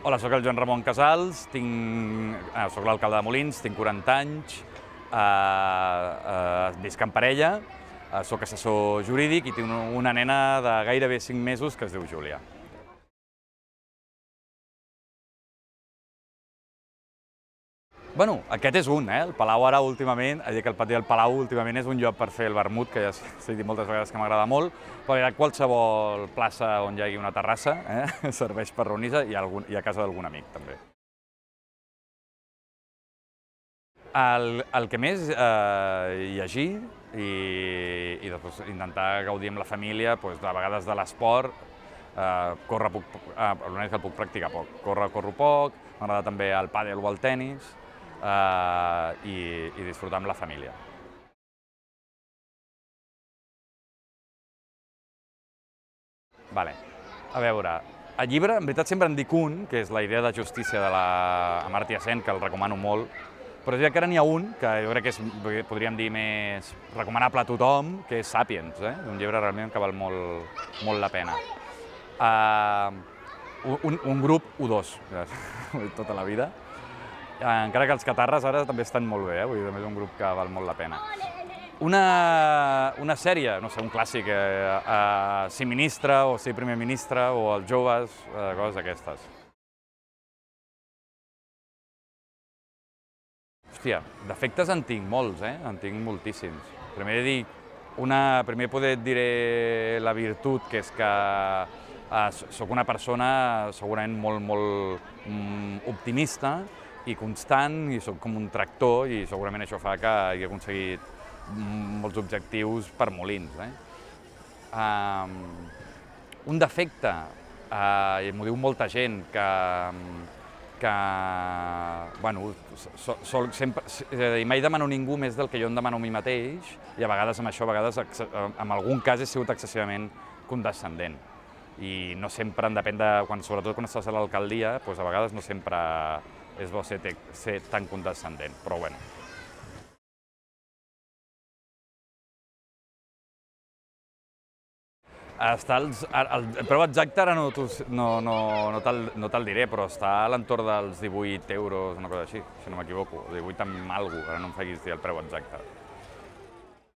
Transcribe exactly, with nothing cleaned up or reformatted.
Hola, soc el Joan Ramon Casals, tinc, eh, soc l'alcalde de Molins, tinc quaranta anys, eh, eh, visc en parella, eh, soc assessor jurídic i tinc una nena de gairebé cinc mesos que es diu Júlia. Bueno, aquest és un, eh? El Palau ara últimament, a dir que el pati del Palau últimament és un lloc per fer el vermut, que ja s'ha dit moltes vegades que m'agrada molt, però hi ha qualsevol plaça on hi hagi una terrassa, eh? Serveix per reunir-se i, algun, i a casa d'algun amic, també. El, el que més, eh, llegir i, i després intentar gaudir amb la família, doncs, de vegades de l'esport, eh, córrer puc, eh, l'únic que el puc practicar poc. Córrer, corro poc, m'agrada també el pàdel o el tenis, eh, i, i disfrutar amb la família. Vale. A veure, el llibre, en veritat sempre en dic un, que és La idea de justícia de la Amartya Sen, que el recomano molt, però ja que ara n'hi ha un, que jo crec que és, podríem dir, més recomanable a tothom, que és Sàpiens, eh? Un llibre realment que val molt, molt la pena. Uh, un, un grup U dos, tota la vida. Encara que els catarres ara també estan molt bé, eh? Vull dir, també és un grup que val molt la pena. Una, una sèrie, no sé, un clàssic, eh, eh, Ser ministre o Ser primer ministre o Els joves, eh, coses d'aquestes. Hòstia, defectes en tinc molts, eh? En tinc moltíssims. Primer dic, una, primer poder et diré la virtut, que és que eh, sóc una persona segurament molt, molt mm, optimista i constant, i sóc com un tractor, i segurament això fa que he aconseguit molts objectius per Molins. Eh? Um, un defecte, uh, i m'ho diu molta gent, que, que bueno, so, so, sempre, i mai demano a ningú més del que jo em demano a mi mateix, i a vegades amb això, a vegades en algun cas he sigut excessivament condescendent. I no sempre, depèn de, quan, sobretot quan estàs a l'alcaldia, doncs a vegades no sempre és bo ser, ser tan condescendent, però bueno. Està els, el, el preu exacte ara no, no, no, no te'l no te diré, però està a l'entorn dels divuit euros, una cosa així, si no m'equivoco, divuit amb alguna cosa, ara no em facis dir el preu exacte.